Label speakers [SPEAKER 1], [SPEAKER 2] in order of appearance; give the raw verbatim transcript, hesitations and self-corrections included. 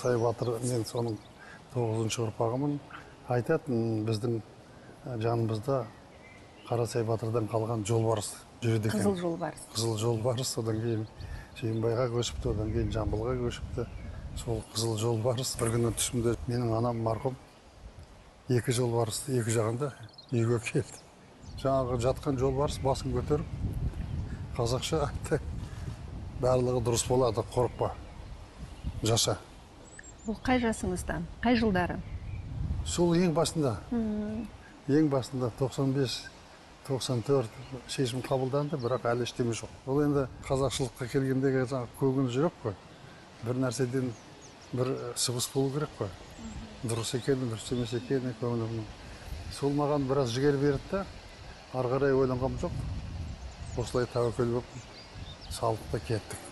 [SPEAKER 1] Қарасай батыр, мен соның тоғызыншы ұрпағымын. Айтатын біздің жанымызда Қарасай батырдан қалған жолбарыс жүреді екен.
[SPEAKER 2] Қызыл жолбарыс.
[SPEAKER 1] Қызыл жолбарыс, одан кейін Жиенбайға көшіпті, одан кейін Жамбылға көшіпті. Сол қызыл жолбарыс бір күні түсімде менің анам марқұм екі жолбарысты екі жағында үйге келді. Жаңағы жатқан жолбарыс басын көтеріп, қазақша айтты: барлығы дұрыс болады, қорықпа, жаша.
[SPEAKER 2] Бұл қай жасыңыздан, қай жылдары?
[SPEAKER 1] Сол ең басында, ең басында тоқсан бес тоқсан төрт шешім қабылданды, бірақ әлі ештеме жоқ. Ол енді қазақшылыққа келгендегі көгін жүрек қой. Бір нәрседен бір сыбыс болу керек қой. Дұрыс екені, дұрыс емес екені көңілімнің. Сол маған біраз жігер берді да, ары қарай ойланғам жоқ. Осылай тәуекел болып салдық та кеттік.